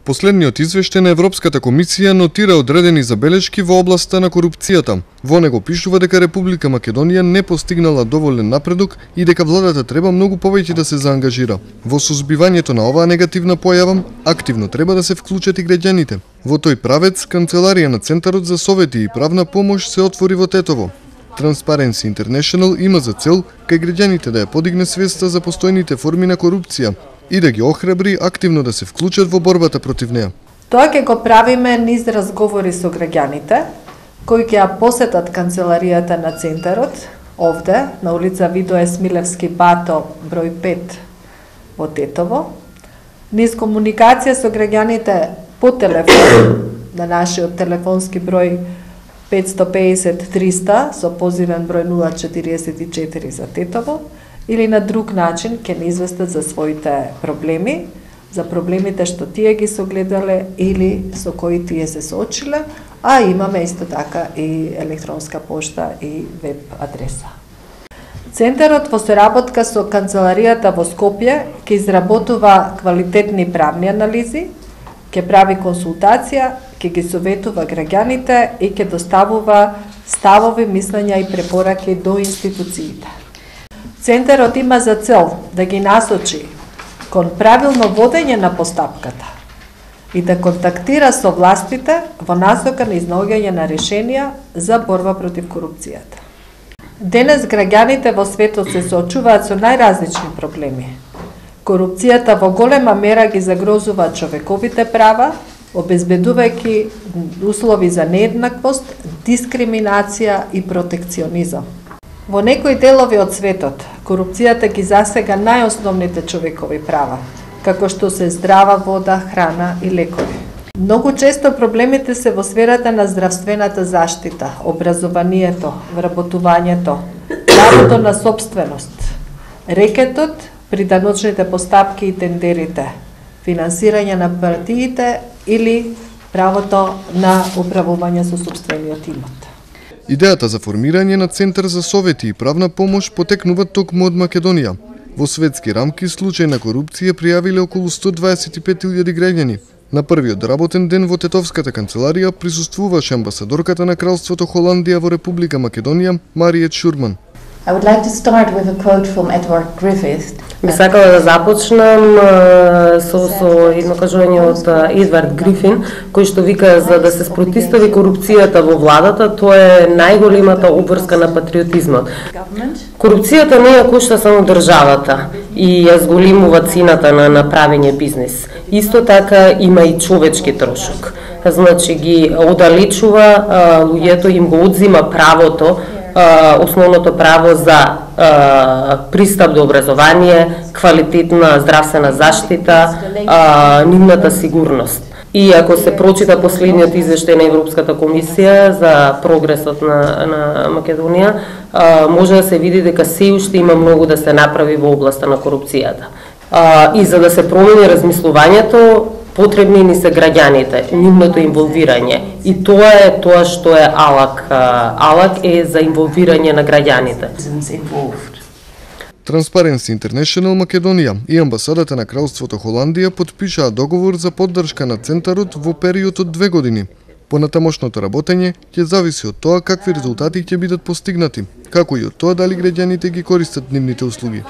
Последниот извештај на Европската комисија нотира одредени забелешки во областа на корупцијата. Во него пишува дека Република Македонија не постигнала доволен напредок и дека владата треба многу повеќе да се заангажира. Во сузбивањето на оваа негативна појава, активно треба да се вклучат и граѓаните. Во тој правец, Канцеларија на Центарот за совети и правна помош се отвори во Тетово. Transparency International има за цел кај граѓаните да ја подигне свеста за постојните форми на корупција и да ги охрабри активно да се вклучат во борбата против неа. Тоа ќе го правиме низ разговори со граѓаните, кои ќе ја посетат канцеларијата на Центарот, овде, на улица Видое Смилевски Бато, број 5 во Тетово, низ комуникација со граѓаните по телефон, на нашиот телефонски број 550-300 со позивен број 044 за Тетово, или на друг начин ќе ни известат за своите проблеми, за проблемите што тие ги согледале или со кои тие се соочиле, а имаме исто така и електронска пошта и веб адреса. Центарот во соработка со канцеларијата во Скопје ќе изработува квалитетни правни анализи, ќе прави консултација, ќе ги советува граѓаните и ќе доставува ставови, мислења и препораки до институциите. Центарот има за цел да ги насочи кон правилно водење на постапката и да контактира со властите во насока на изнаоѓање на решенија за борба против корупцијата. Денес граѓаните во светот се соочуваат со најразлични проблеми. Корупцијата во голема мера ги загрозува човековите права, обезбедувајќи услови за нееднаквост, дискриминација и протекционизам. Во некои делови од светот, корупцијата ги засега најосновните човекови права, како што се здрава вода, храна и лекови. Многу често проблемите се во сферата на здравствената заштита, образованието, вработувањето, правото на собственост, рекетот, приданочните постапки и тендерите, финансирање на партиите или правото на управување со сопствениот имот. Идејата за формирање на Центар за совети и правна помош потекнува токму од Македонија. Во светски рамки случај на корупција пријавиле околу 125.000 граѓани. На првиот работен ден во Тетовската канцеларија присуствуваше амбасадорката на Кралството Холандија во Република Македонија, Мариет Шурман. I would like to start with a quote from Edward Griffith. Би сакала да започнам со едно кажување од Едвард Грифин, кој што вика за да се спротистави корупцијата во владата, тоа е најголемата обврска на патриотизмот. Корупцијата не ја кошта само државата и ја зголемува цената на направење бизнес. Исто така има и човечки трошок. Значи ги оддалечува луѓето, им го одзима правото, основното право за пристап до образование, квалитетна здравствена заштита, нивната сигурност. И ако се прочита последниот извештај на Европската комисија за прогресот на Македонија, може да се види дека се уште има многу да се направи во областа на корупцијата. И за да се промени размислувањето, потребни ни се граѓаните, нивното инволвирање. И тоа е тоа што е АЛАК. АЛАК е за инволвирање на граѓаните. Transparency International Македонија и амбасадата на Кралството Холандија подпишаа договор за поддршка на Центарот во период од 2 години. Понатамошното работење ќе зависи од тоа какви резултати ќе бидат постигнати, како и од тоа дали граѓаните ги користат нивните услуги.